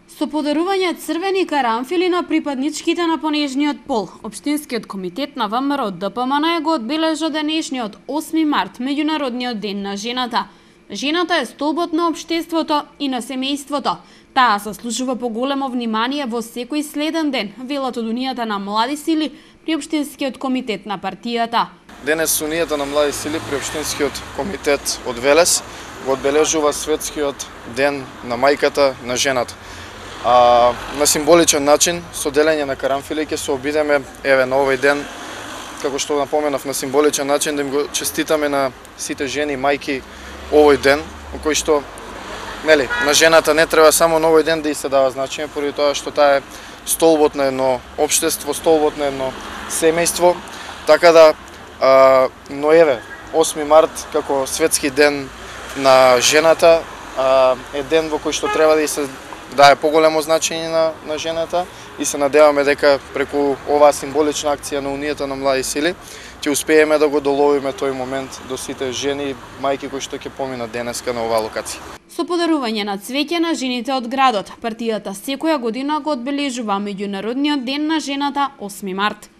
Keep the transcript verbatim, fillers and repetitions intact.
Со подарување црвени карамфили на припадничките на понежниот пол, Општинскиот комитет на ВМРО Д П М Н го одбележа денешниот осми март, меѓународниот ден на жената. Жената е столбот на општеството и на семејството. Таа заслужува поголемо внимание во секој следен ден, велат од Унијата на млади сили при Општинскиот комитет на партијата. Денес Унијата на млади сили при Општинскиот комитет од Велес го одбележува светскиот ден на мајката, на жената. А, на символичен начин, со делење на карамфили, ќе се обидеме еве на овој ден, како што напоменав, на символичен начин да им го честитаме на сите жени, мајки овој ден, во кој што нели, на жената не треба само на овој ден да и се дава значење, поради тоа што таа е столбот на едно општество, столбот на едно семејство, така да а, но еве осми март како светски ден на жената а, е ден во кој што треба да и се дае поголемо значење на, на жената и се надеваме дека преку оваа символична акција на Унијата на млади сили ќе успееме да го доловиме тој момент до сите жени и мајки кои што ќе поминат денеска на оваа локација. Со подарување на цвеќе на жените од градот, партијата секоја година го одбележува меѓународниот ден на жената осми март.